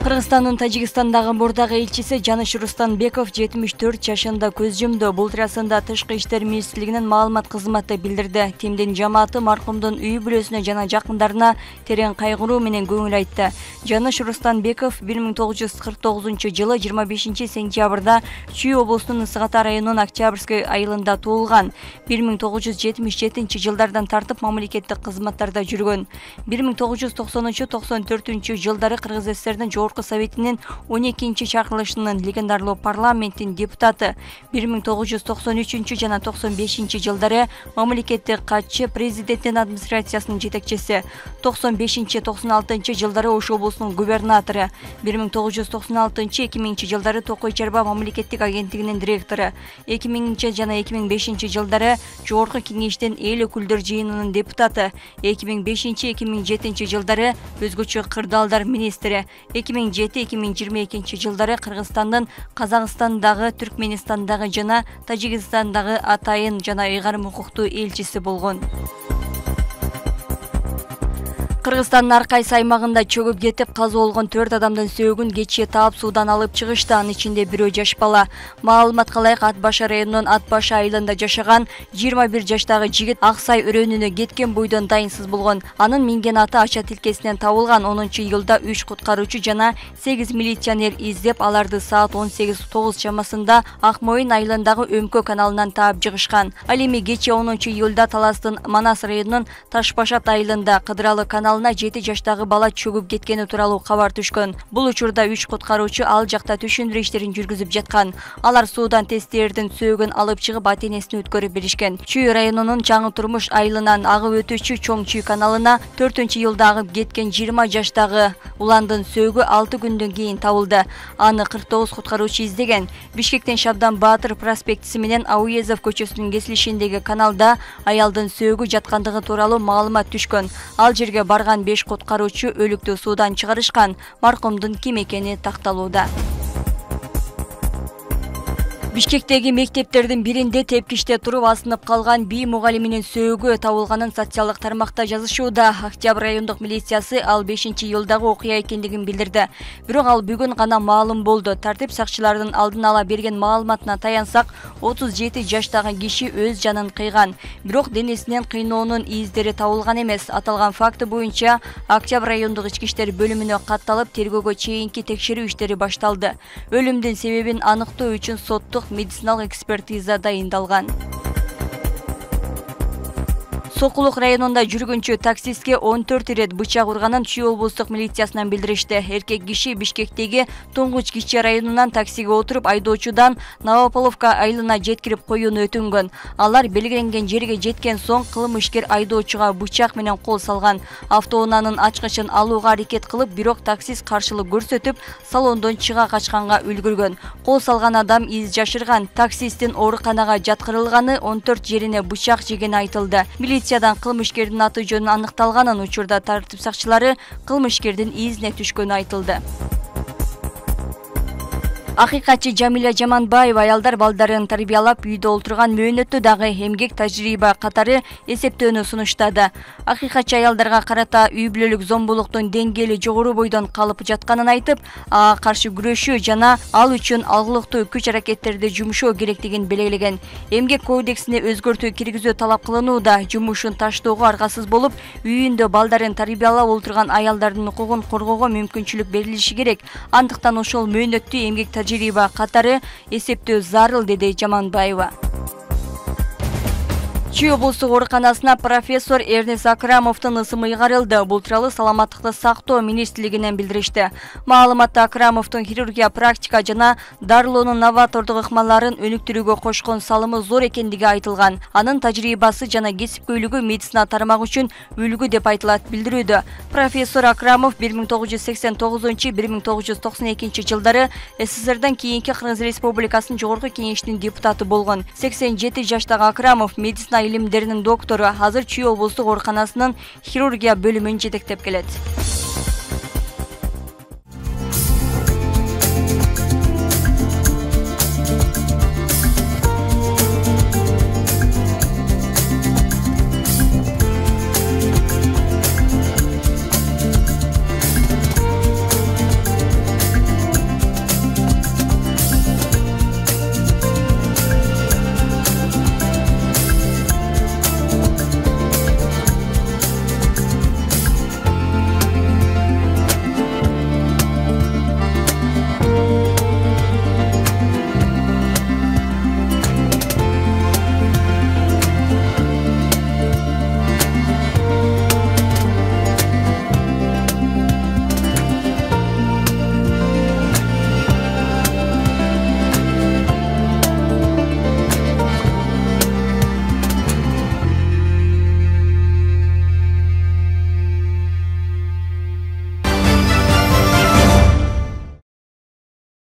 Кыргызстандын Тажикстандагы мурдагы элчиси Жаныш Рустанбеков 74 жашында көз жумду. Бул туурасында Тышкы иштер министрлигинин маалымат кызматы билдирди. Тимдин жамааты маркумдун үй бүлөсүнө жана жакындарына терең кайгыруу менен көңүл айтты. Жаныш Рустанбеков 1949-жылы 25 сентябрда Чүй облусунун Ысык Ата районунун Октябрьский айылында туулган. 1977-жылдардан тартып мамлекеттик кызматтарда жүргөн. 1990-94 жылдары Кыргыз ССРдин Жогорку Советинин 12-чи чакырылышынын легендарлуу парламенттин депутаты, 1993 жана 95 жылдары мамлекеттик катчы, президенттин администрациясынын жетекчиси, 95-96 жылдары Ош облусунун губернатору, 1996-2000 жылдары Токой Чарба мамлекеттик агенттигинин директору, 2000 жана 2005 жылдары Жогорку Кеңештин эл өкүлдөр жыйынынын депутаты, 2005-2007 жылдары өзгөчө кырдаалдар министри, 2007-2022 жылдары Кыргызстандын Казакстандагы, Түркменистандагы жана Тажикстандагы атайын жана ыйгарым укуктуу элчиси болгон. Кыргызстандын ар кайсы аймагында чөгүп кетип каза болгон 4 адамдын сөөгүн кечээ таап суудан алып чыгышты. Анын ичинде бирөө жаш бала. Маалыматка ылайык Ат Башы районунун Ат Башы айылында жашаган 21 жаштагы жигит Ак Сай өрөөнүнө кеткен бойдон дайынсыз болгон. Анын минген аты ача тилкесинен табылган. 10-июлда 3 куткаруучу жана 8 милиционер издеп, аларды саат 18:09 чамасында Ак Моюн айылындагы Өмкө каналынан таап жыгышкан. Ал эми кечээ 10-июлда Таластын Манас районунун Ташбашат айылында Кыдыралы каналына 7 жаштагы бала чөгүп кеткени тууралуу кабар түшкөн. Бул учурда 3 куткаруучу ал жакта түшүндүрүү иштерин жүргүзүп жаткан. Алар суудан тесттердин сөөгүн алып чыгып ата-энесине өткөрүп беришкен. Чүй районунун Жаңы Турмуш айылынан агып өтүүчү Чоң Чүй каналына 4-июлда агып кеткен 20 жаштагы уландын сөөгү 6 күндөн кийин табылды. Аны 49 куткаруучу издеген. Бишкектен Шабдан Баатыр проспектиси менен Ауезов көчөсүнүн кесилишиндеги каналда аялдын сөөгү жаткандыгы тууралуу маалымат түшкөн. Ал жерге барган 5 куткаруучу өлүктү суудан чыгарышкан. Маркумдун ким экени такталууда. Бишкектеги мектептердин биринде тепкичте туруп асынып калган бий мугалиминин сөөгү табылганын социалдык тармакта жазышууда. Октябрь райондук милициясы ал 5-июлдагы окуя экендигин билдирди. Бирок ал бүгүн гана маалым болду. Тартип сакчыларынын алдын ала берген маалыматына таянсак, 37 жаштагы киши өз жанын кыйган. Бирок денесинен кыйноонун издери табылган эмес. Аталган факты боюнча Октябрь райондук ички иштер бөлүмүнө катталып, тергөөгө чейинки текшерүү иштери башталды. Өлүмдүн себебин аныктоо үчүн соттук медициналык экспертиза дайындалган. Сокулук районунда жүргүнчү таксистке 14 ирет бычак урганын Чүй облустук милициясынан билдиришти. Эркек киши Бишкектеги Туңгуч Кичи районунан таксиге отуруп айдоочудан Новополовка айылына жеткирип коюуну өтүнгөн. Алар белгиленген жерге жеткен соң кылмышкер айдоочуга бычак менен кол салган. Автоунаанын ачкычын алууга аракет кылып, бирок таксист каршылык көрсөтүп, салондон чыга качканга үлгүргөн. Кол салган адам из жашырган. Таксисттин ооруканага жаткырылганы, 14 жерине бычак жегени айтылды. Милициядан кылмышкердин аты жөнү аныкталганын, учурда тартип сакчылары кылмышкердин изине түшкөнү айтылды. Акыйкатчы Жамиля Жаманбаева аялдар балдарын тарбиялап үйдө олтурган мөөнөттү дагы эмгек тажрыйба катары эсептөөнү сунуштады. Акыйкатчы аялдарга карата үй бүлөлүк зомбулуктун деңгээли жогору бойдон калып жатканын айтып, ага каршы күрөшүү жана ал үчүн алгылыктуу күч-аракеттерди жумшоо керектигин белгилеген. Эмгек кодексине өзгөртүү киргизүү талап кылынууда. Жумушун таштоого аргасыз болуп, үйүндө балдарын тарбиялап олтурган аялдардын укугун коргоого мүмкүнчүлүк берилиши керек. Андыктан ошол мөөнөттү эмгек тажрыйба катары эсептөө зарыл, деди Жаманбаева. Чүй облустук ооруканасына профессор Эрнес Акрамовдун ысымы ыйгарылды. Бул тууралуу саламаттыкты сактоо министрлигинен билдиришти. Маалыматта Акрамовдун хирургия практика жана дарылоонун новатордук ыкмаларын өнүктүрүүгө кошкон салымы зор экендиги айтылган. Анын тажрыйбасы жана кесипкөйлүгү медицина тармагы үчүн үлгү деп айтылат билдирүүдө. Профессор Акрамов 1989-1992 жылдары СССРдан кийинки Кыргыз Республикасынын Жогорку Кеңештин депутаты болгон. 87 жаштагы Акрамов медицина илимдеринин доктору, азыр Чүй облустук ооруканасынын хирургия бөлүмүн жетектеп келет.